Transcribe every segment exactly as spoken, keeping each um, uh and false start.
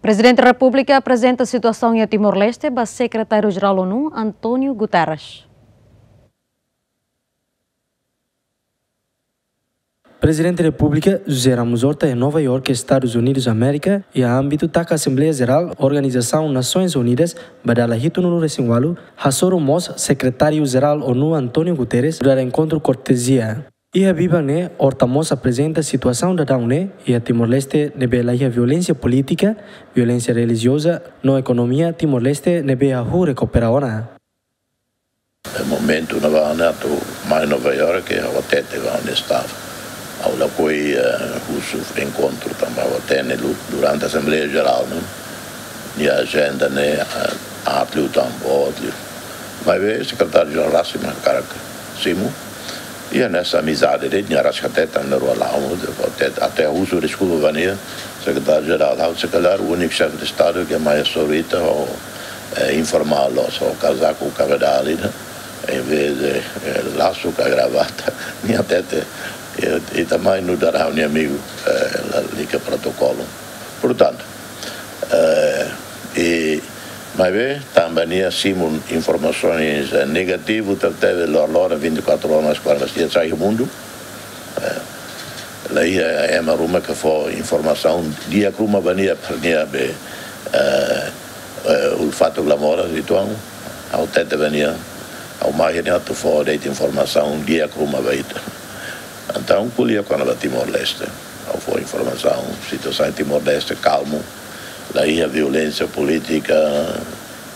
Prezidente Repúblika aprezenta situasaun iha Timor-Leste ba Sekretáriu-Jerál ONU, António Guterres. Prezidente Repúblika José Ramos Horta iha Nova Iorke, Estadus Unidus Amérika, iha ámbitu taka Asembleia Jerál Organizasaun Nasoins Unidas ba dala hitunulu-resin-ualu, hasoru mós Sekretáriu-Jerál ONU António Guterres nu'udar enkontru kortezia. Iha biban ne'e, Horta mós aprezenta situasaun daudaun ne'e iha Timor-Leste ne'ebé laiha violénsia polítika, violénsia relijioza no ekonomia Timor-Leste ne'ebé hahú rekupera ona. Momentu ne'ebá ne'e atu mai Nova Iorke, ha'u hatete ba honestidade. Ha'u lakohi, eh, husu enkontru tanba ha'u hatene lu-, durante Asembleia Jerál ne'e, nia ajenda ne'e, eh, aat liután, boot liu. Maibé Sekretáriu-Jerál rasik mak hakarak simu. Iha ne'e amizade de'it, nia rasik hatete, nia rua la'o, hatete, até husu deskulpa ba nia, Sekretáriu-Jerál, ha'u se kalhar úniku xefe de Estadu ke mai hasoru ita ho, eh, informál loos, ho kazaku kabedal ida, em vez de, eh, lasu ka gravata, nia hatete, eh, ita mai nu'udar ha'u-nia amigu, eh, lalika protokolu. Portantu, eh, i maibé tanba nia simu informasaun, eh, negativu, tebetebes loroloron, vinte e quatro horas, kuarenta dias sai mundu. Eh, laiha ema ruma ke fó informasaun di'ak ruma ba nia, para nia be, eh, eh, ulfatu glamora, ituan, ha'u hatete ba nia, ha'u mai ne'e atu fó de'it informasaun di'ak ruma ba ita. Entaun, ko'alia kona-ba Timor-Leste. Ha'u fó informasaun, situasaun Timor-Leste kalmu, laiha violénsia polítika,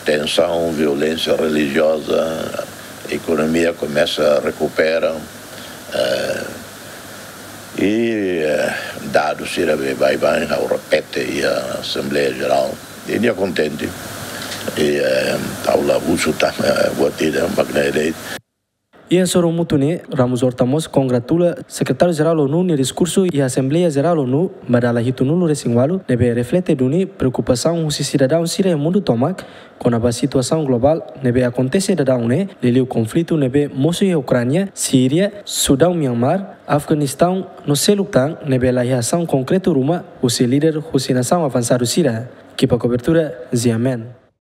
tensaun, violénsia relijioza, ekonomia komesa rekupera, eh, i, eh, dadus sira be baibain, ha'u repete iha Asembleia Jerál. I nia kontente. I, eh, ha'u la husu tan, eh, buat ida, mak ne'e de'it. Iha hasoru mútuu ne'e, Ramos Horta mós kongratula Sekretáriu-Jerál ONU nia diskursu iha Asembleia Jerál ONU ba dala hitunulu-resin-ualu, ne'ebé reflete duni preokupasaun husi sidadaun sira iha mundu tomak kona-ba situasaun globál ne'ebé akontese daudaun ne'e, liuliu konflitu ne'ebé mosu iha Ukránia, Síria, Sudaun, Mianmar, Afeganistaun no seluk tan, ne'ebé laiha asaun konkretu ruma husi líder husi nasaun avansadu sira. Ekipa kobertura, Ziamen.